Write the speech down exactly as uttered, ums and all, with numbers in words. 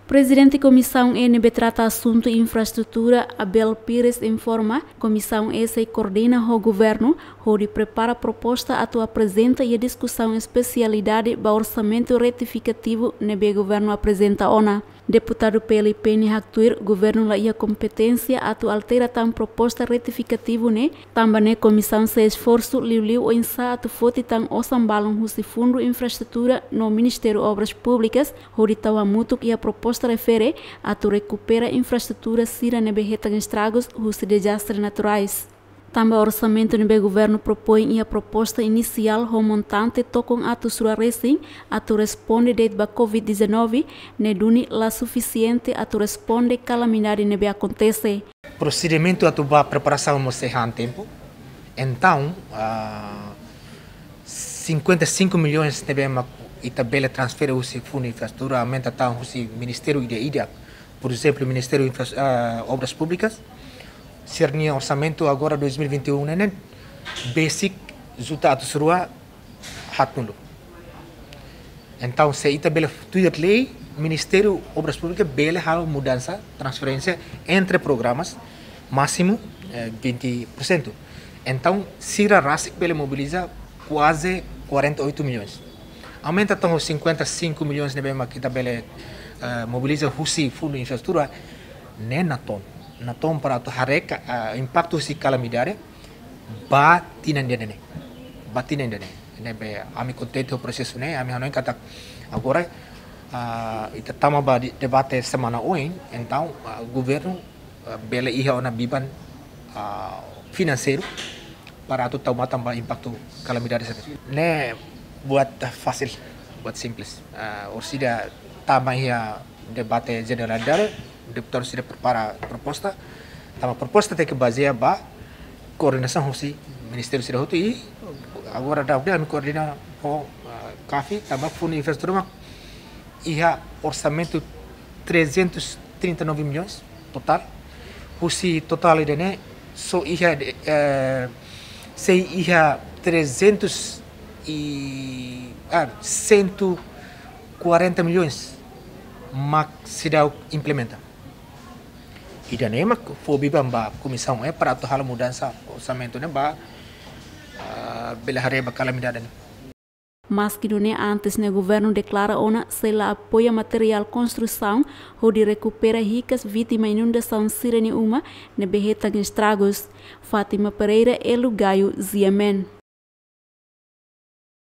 Prezidente Komisaun E ne'ebé trata asuntu infraestrutura, Abel Pires, informa, Komisaun E sei koordena ho governu hodi prepara proposta atu aprezenta iha diskusaun espesialidade ba orsamentu retifikativu ne'ebé governu aprezenta ona. Deputadu P L P ne'e haktuir governu la iha kompeténsia atu altera tan proposta retifikativu ne'e, tanba ne'e komisaun sei esforsu liuliu oinsá atu foti tan osan balun husi Fundu Infraestrutura no Ministériu Obras Públikas, hodi tau hamutuk iha proposta refere atu rekupera infraestrutura sira ne'ebé hetan estragus husi dezastre naturais. Tanba orsamentu ne'ebé governu propoin iha proposta inisiál ho montante tokon atus rua resin atu responde de'it ba covid dezanove, ne'e duni la sufisiente atu responde kalamidade ne'ebé akontese. Prosedimentu atu ba preparasaun mós sei han tempu. Entaun, ah, cinquenta e cinco milhões ne'ebé mak ita bele transfere husi Fundu Infraestrutura, aumenta tan husi ministériu ida-idak. Por ezemplu, Ministériu Infra-, ah, Obras Públikas, sira-nia orsamentu agora dois mil e vinte e um ne'e, ne'e besik juta atus rua haat-nulu. Entaun, se ita bele tuir lei, Ministériu Obras Públikas bele halo mudansa, transferénsia entre programas, másimu, eh, vinte por cento. Entaun, sira rasik bele mobiliza kuaze quarenta e oito milhões. Aumenta tan cinquenta e cinco milhões ne'ebé mak ita bele, eh, mobiliza husi Fundu Infraestrutura, ne'e natoon. Natoon para atu haree ka, eh, impaktu husi kalamidade ba tinan ida-ne'e. Ba tinan ida-ne'e. Ne'ebé ami kontente ho prosesu ne'e, ami hanoin katak agora, ah, ita tama ba de-, debate semana oin, entaun, ah, governu, ah, bele iha ona biban, ah, finanseiru para atu tau matan ba impaktu kalamidade sira-ne'e. Ne'e buat fasil, buat simples. Ah, orsida tama iha debate jenerál, deputadu sira prepara proposta. Tanba proposta tenke bazeia ba koordenasaun husi ministériu sira hotu i agora daudaun ami koordena ho, ah, CAFI, tanba Fundu Infraestrutura mak iha orsamentu trezentos e trinta e nove milhões totál. Husi totál ida-ne'e só iha, eh, sei iha trezentos e, ah, cento e quarenta milhões mak seidauk implementa. Ida-ne'e mak fó biban ba Komisaun E para atu halo mudansa orsamentu ne'e ba, ah, bele haree ba kalamidade ne'e. Maski nune'e, antes ne'e governu deklara ona sei la apoia materiál konstrusaun hodi rekupera hikas vítima inundasaun sira-nia uma ne'ebé hetan estragus. Fátima Pereira, Elo Gayo, G M N.